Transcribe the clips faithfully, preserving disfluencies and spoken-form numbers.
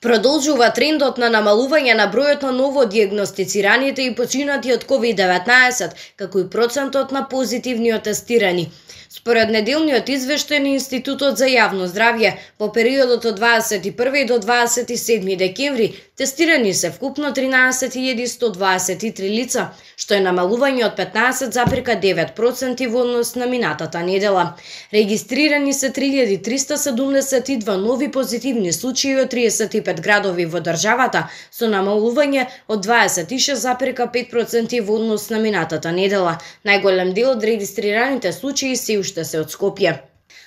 Продолжува трендот на намалување на бројот на новодијагностицираните и починати од ковид деветнаесет, како и процентот на позитивни тестирани. Според неделниот извештај на Институтот за јавно здравје, во периодот од дваесет и први до дваесет и седми декември тестирани се вкупно тринаесет илјади сто дваесет и три лица, што е намалување од петнаесет зарез девет проценти во однос на минатата недела. Регистрирани се три илјади триста седумдесет и два нови позитивни случаи од триесет и пет градови во државата, со намалување од дваесет и шест зарез пет проценти во однос на минатата недела. Најголем дел од регистрираните случаи се уште се од Скопје.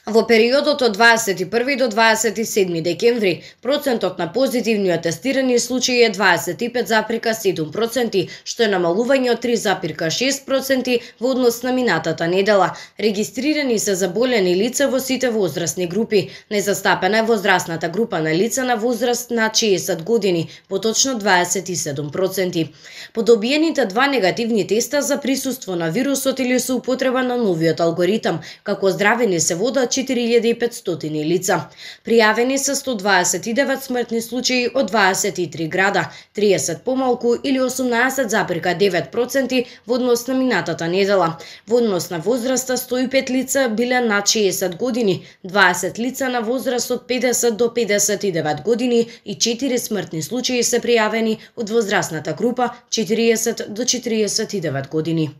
Во периодот од дваесет и први до дваесет и седми декември, процентот на позитивни тестирани случаи е дваесет и пет зарез седум проценти, што е намалување од три зарез шест проценти во однос на минатата недела. Регистрирани се заболени лица во сите возрастни групи. Незастапена е возрастната група на лица на возраст над шеесет години, поточно дваесет и седум проценти. По добиените два негативни теста за присуство на вирусот или со употреба на новиот алгоритам, како здравени се водат четири илјади и петстотини лица. Пријавени се сто дваесет и девет смртни случаи од дваесет и три града, триесет помалку или осумнаесет зарез девет проценти во однос на минатата недела. Во однос на возраста сто и пет лица биле над шеесет години, дваесет лица на возраст од педесет до педесет и девет години и четири смртни случаи се пријавени од возрастната група четириесет до четириесет и девет години.